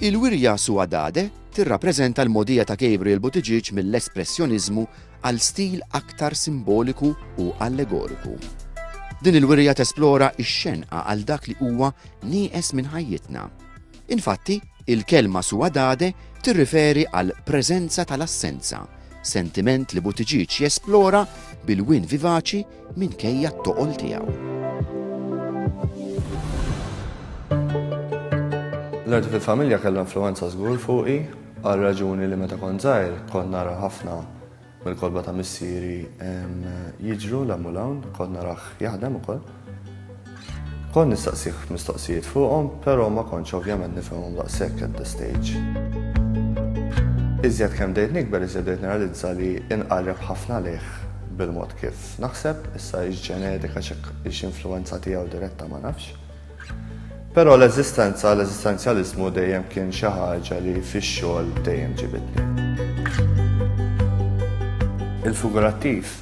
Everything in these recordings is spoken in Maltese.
Il-wirja Suadade tirrappreżenta l-mogħdija ta' Gabriel Buttigieg mill-espressjoniżmu għal stil aktar simboliku u allegoriku. Din il-wirja tesplora x-xenqa għal dak li huwa nieqes minn ħajjitna. Infatti, il-kelma suadade tirriferi għal preżenza tal-assenza, sentiment li Buttigieg jesplora bil-wien vivaċi minkejja t-toqol tiegħu. L-arti fil-familja kellha influwenza żgur fuqi għal raġuni li meta kont żgħir kont nara ħafna mill-kotba ta' missieri jiġru 'l hemm u 'l hawn, kont narah jaħdem ukoll. Kont nistaqsih mistoqsijiet fuqhom, però ma kontx ovvjament nifhimhom daqshekk at the stage. Iżjed kemm bdejt nikber iżjed bdejt nirrealizza li inqarreb ħafna lejh bil-mod kif naħseb, issa hix ġenetika hix influwenza tiegħu diretta ma nafx. Però l-eżistenza, l-eżistenzjaliżmu dejjem kien xi ħaġa li fix-xogħol dejjem ġibidni. Il-figurattiv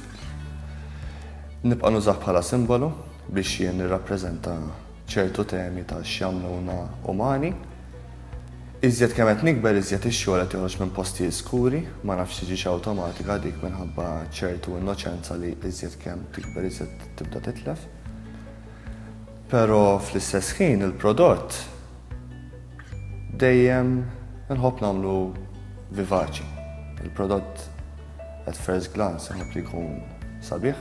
nibqa' nużah bħala simbolu biex jien nirrappreżenta ċertu temi ta' x'jagħmluna umani. Iżjed kemm qed nikber iżjed ix-xogħol qed joħroġ minn postijiet skuri, ma nafx tiġix awtomatika dik minħabba ċertu innoċenza li iżjed kemm tikber iżjed tibda titlef. Però fl-istess ħin il-prodott dejjem inħobb nagħmlu vivaċi. Il-prodott at first glance inħobb li jkun sabiħ.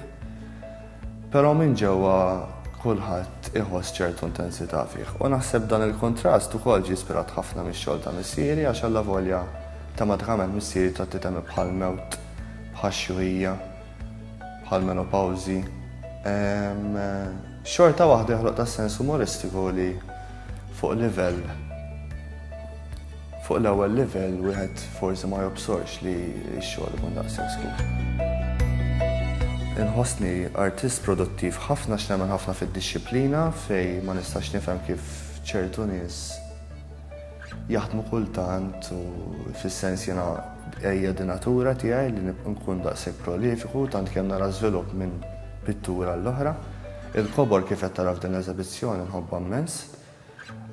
Però minn ġewwa kulħadd iħoss ċertu intensità fih. U naħseb dan il-kuntrast ukoll ġie ispirat ħafna mix-xogħol ta' missieri għax allavolja tematikament missieri tratti temi bħall-mewt, bħax-xjuħija, bħall-menopawżi, xorta waħda joħloq ta' sens umoristiku li fuq livell Fuq l-ewwel livell wieħed forsi ma jobsorx li x-xogħol ikun daqshekk skur. Inħossni artist produttiv ħafna għax nemmen ħafna fid-dixxiplina fejn ma nistax nifhem kif ċertu nies jaħdmu kultant u fis-sens jiena hija di natura tiegħi li nkun daqshekk prolifiku tant kemm nara żvilupp minn pittura għall-oħra. Il-kobor kif qed tara f'din l-eżebizzjoni nħobbha mmens.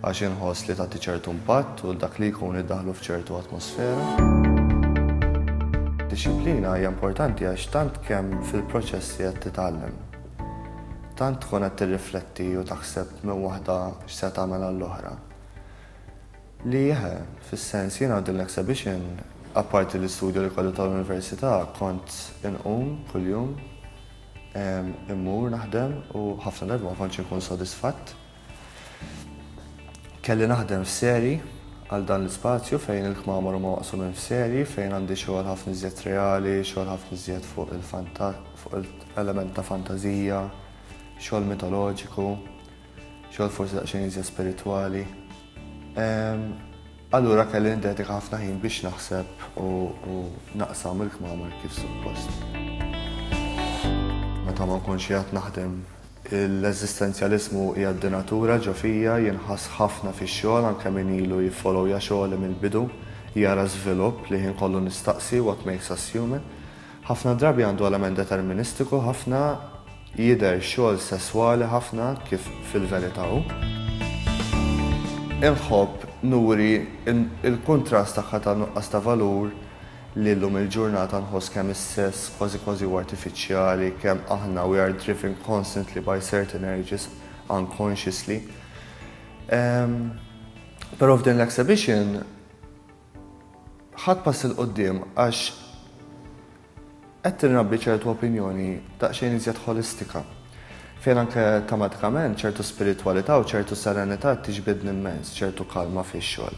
Għax inħoss li tagħti ċertu impatt u 'l dak li jkun iddaħħlu f'ċertu atmosfera. Dixxiplina hija importanti għax tant kemm fil-proċess li qed titgħallem, tant tkun qed tirrifletti u taħseb minn waħda x'se tagħmel għall-oħra. Li eħe, fis-sens jiena din l-exhibition, apparti l-istudju li kelli tal-università, kont inqum kuljum, immur naħdem u ħafna drabi ma kontx inkun sodisfatt. Kelli naħdem f'seri għal dan l-ispazju fejn il-kmamar huma maqsumin f'seri fejn għandi xogħol ħafna iżjed reali, xogħol ħafna iżjed fuq il-fuq il-element ta' fantażija, xogħol mitoloġiku, xogħol forsi daqsxejn iżjed spiritwali. Allura kelli niddedika ħafna ħin biex naħseb u naqsam il-kmamar kif suppost. Meta ma nkunx qiegħed naħdem l-eżistenzjaliżmu hija d-dinatura ġo fija, jinħass ħafna fix-xogħol anke min ilu jiffollowja xogħli mill-bidu jara żvilupp li ħin kollu nistaqsi what makes us human. Ħafna drabi għandu element deterministiku ħafna Jidher xogħol sesswali ħafna kif fil-verità hu. Inħobb nuri l-kuntrast tagħha ta' nuqqas ta' valur li llum il-ġurnata nħoss kemm is-sess kważi kważi huwa artifiċjali, kemm aħna we are driven constantly by certain urges unconsciously. Però f'din l-exhibition ħadt pass 'il quddiem għax Qed tinrabbi ċertu opinjoni daqsxejn iżjed ħolistika, fejn anke tematikament ċertu spiritwalità u ċertu serenità tiġbidni immens, ċertu kalma fix-xogħol.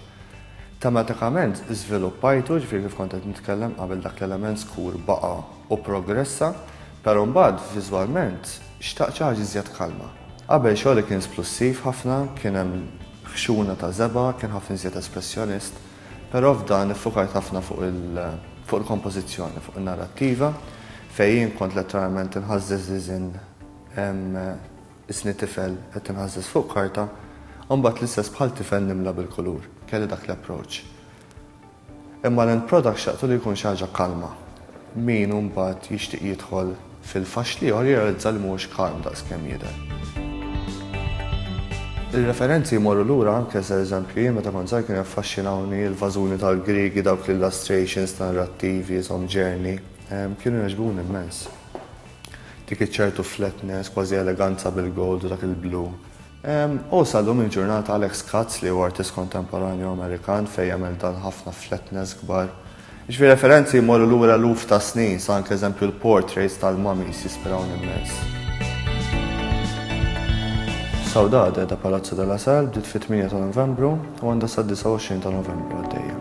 Tematikament żviluppajtu, ġifieri kif kont qed nitkellem qabel dak l-element skur baqa' u pprogressa, però mbagħad viżwalment xtaqt xi ħaġa iżjed kalma. Qabel xogħli kien splussiv ħafna, kien hemm ħxuna ta' żebgħa, kien ħafna iżjed espressjonist. Però f'dan iffukajt ħafna fuq il fuq il-kompożizzjoni, fuq in-narrattiva, fejn jien kont letteralment inħażżeż iżin isni tifel qed inħażżeż fuq karta, u mbagħad l-istess bħal tifel nimla bil-kulur. Kelli dak l-approach. Imma l-end product xtaqtu li jkun xi ħaġa kalma. Min hu mbagħad jixtieq jidħol fil-faxx l-ieħor jirrealizza li mhuwiex kalm daqs kemm jidher. Ir-referenzi jmorru lura anke se eżempju jien meta kont żgħir kienu jaffaxxinawni l-vażuni tal-Griegi dawk l-illustrations narrattivi ishom journey. Kienu jogħġbuni immens. Dik iċ-ċertu flatness, kważi eleganza bil-gold u dak il-blu. U sal-lum il-ġurnata Alex Katz li huwa artist kontemporanju Amerikan fejn jagħmel dan ħafna flatness kbar. Jiġifieri referenzi jmorru lura eluf ta' snin, sa anke eżempju l-portraits tal-mummies jispirawni immens. Saudade da Palazzo della Sal bdiet fit-8 ta' Novembru u għandha sad-29 ta' Novembru għaddejja.